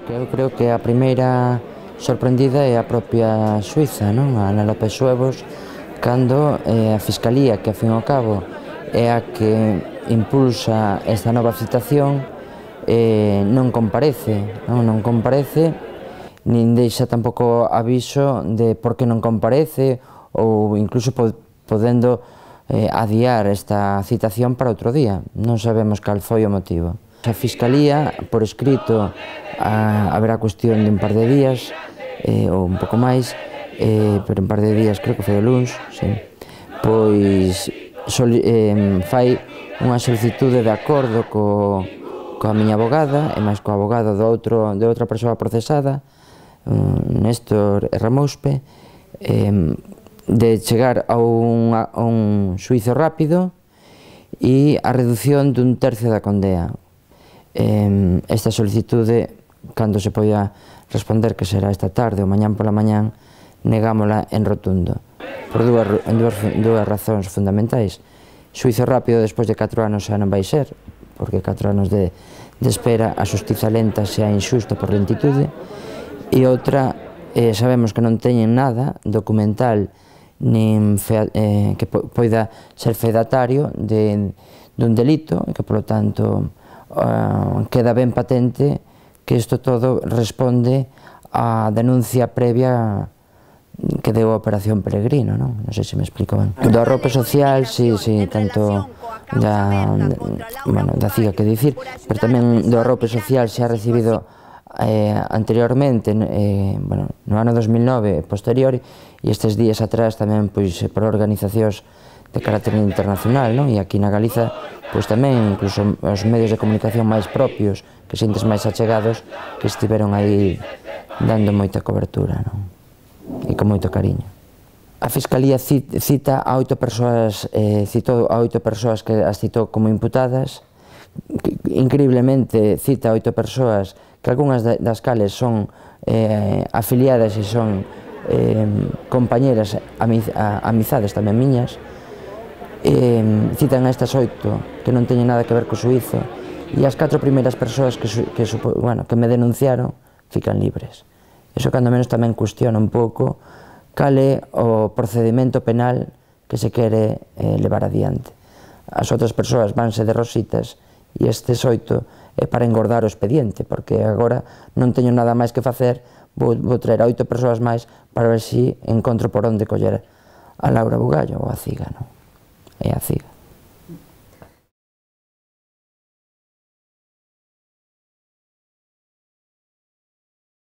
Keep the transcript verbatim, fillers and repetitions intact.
Eu creo que a primeira sorprendida é a propia Suiza, non? A Ana López Suevos, cando eh, a Fiscalía, que ao fin e ao cabo é a que impulsa esta nova citación, eh, non comparece, non, non comparece, nin deixa tampouco aviso de por que non comparece, ou incluso podendo eh, adiar esta citación para outro día. Non sabemos cal foi o motivo. A Fiscalía, por escrito, a, haberá cuestión de un par de días, eh, ou un pouco máis, eh, pero un par de días, creo que foi o luns, sí, pois soli, eh, fai unha solicitude de acordo co, coa miña abogada, e máis co abogado do outro, de outra persoa procesada, Néstor Ramouspe, eh, de chegar a un, a un xuízo rápido e a reducción dun tercio da condea. Eh, esta solicitude, cando se poida responder, que será esta tarde ou mañán pola mañán, negámola en rotundo, por dúas, dúas, dúas razóns fundamentais. Xuízo rápido despois de catro anos xa non vai ser, porque catro anos de, de espera, a xustiza lenta xa é injusta por lentitude, e outra, eh, sabemos que non teñen nada documental nin fe, eh, que po, poida ser fedatario de, dun delito, e que, polo tanto, Uh, queda ben patente que isto todo responde á denuncia previa que deu a Operación Peregrino, non? Non sei se me explico ben. Do arrope social, si, si, tanto da, bueno, da C I G A que dicir, pero tamén do arrope social se ha recibido eh, anteriormente, eh, bueno, no ano dos mil nove, posterior, e estes días atrás tamén, pois, por organizacións de carácter internacional, non? E aquí na Galiza, pois tamén, incluso os medios de comunicación máis propios, que sintes máis achegados, que estiveron aí dando moita cobertura, non? E con moito cariño. A Fiscalía cita a oito persoas, eh, citou a oito persoas que as citou como imputadas, que, increíblemente cita a oito persoas que algunhas das cales son eh, afiliadas e son eh, compañeras, amiz, amizades tamén miñas. Eh, citan a estas oito que non teñen nada que ver co suízo, e as catro primeiras persoas que, que, bueno, que me denunciaron fican libres. Iso cando menos tamén cuestiona un pouco cal é o procedimento penal que se quere eh, levar adiante. As outras persoas vanse de rositas e estes oito é para engordar o expediente, porque agora non teño nada máis que facer, vou, vou traer a oito persoas máis para ver se encontro por onde coller a Laura Bugallo ou a Ciga, non? É a C I G A.